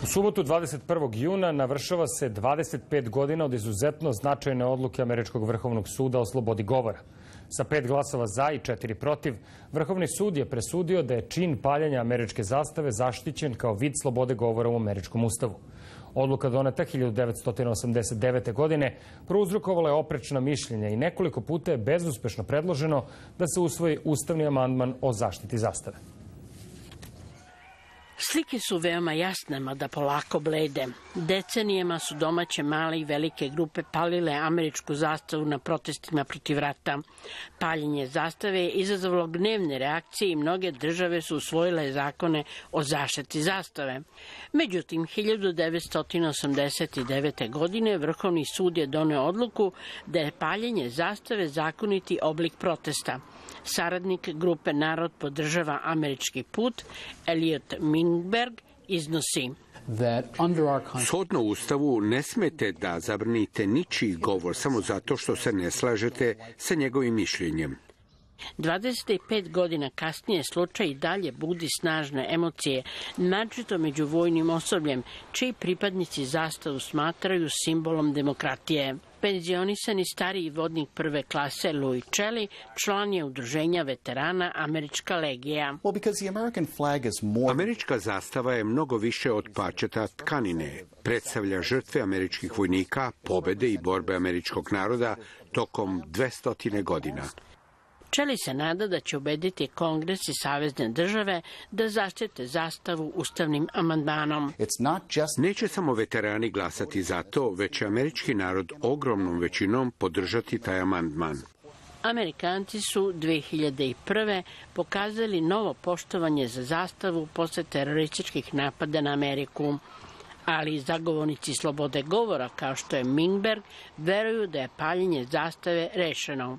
U subotu 21. juna navršava se 25 godina od izuzetno značajne odluke Američkog vrhovnog suda o slobodi govora. Sa 5 glasova za i 4 protiv, Vrhovni sud je presudio da je čin paljenja američke zastave zaštićen kao vid slobode govora u američkom ustavu. Odluka doneta 1989. godine prouzrokovala je oprečna mišljenja i nekoliko puta je bezuspešno predloženo da se usvoji ustavni amandman o zaštiti zastave. Slike su veoma jasne, mada polako blede. Decenijama su domaće male i velike grupe palile američku zastavu na protestima protiv rata. Paljenje zastave je izazvalo gnevne reakcije i mnoge države su usvojile zakone o zaštiti zastave. Međutim, 1989. godine Vrhovni sud je doneo odluku da je paljenje zastave zakoniti oblik protesta. Saradnik grupe Narod podržava američki put, Elliot Mingberg, iznosi: Shodno Ustavu ne smete da zabranite ničiji govor samo zato što se ne slažete sa njegovim mišljenjem. 25 godina kasnije slučaj i dalje budi snažne emocije, naročito među vojnim osobljem, čiji pripadnici zastavu smatraju simbolom demokratije. Penzionisani stariji vodnik prve klase Louis Chelly član je udruženja veterana Američka legija. Američka zastava je mnogo više od parčeta tkanine. Predstavlja žrtve američkih vojnika, pobede i borbe američkog naroda tokom 200 godina. Chelly se nada da će ubediti Kongres i savezne države da zaštite zastavu ustavnim amandmanom. Neće samo veterani glasati za to, već će američki narod ogromnom većinom podržati taj amandman. Amerikanci su 2001. pokazali novo poštovanje za zastavu posle terorističkih napada na Ameriku. Ali zagovornici slobode govora, kao što je Mingberg, veruju da je paljenje zastave rešeno.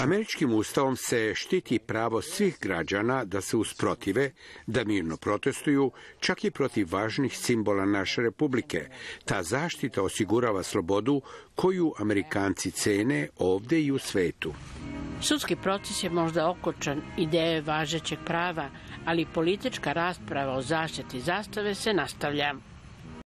Američkim ustavom se štiti pravo svih građana da se usprotive, da mirno protestuju, čak i protiv važnih simbola naše republike. Ta zaštita osigurava slobodu koju Amerikanci cene ovde i u svetu. Sudski proces je možda okočan ideje važećeg prava, ali politička rasprava o zaštiti zastave se nastavlja.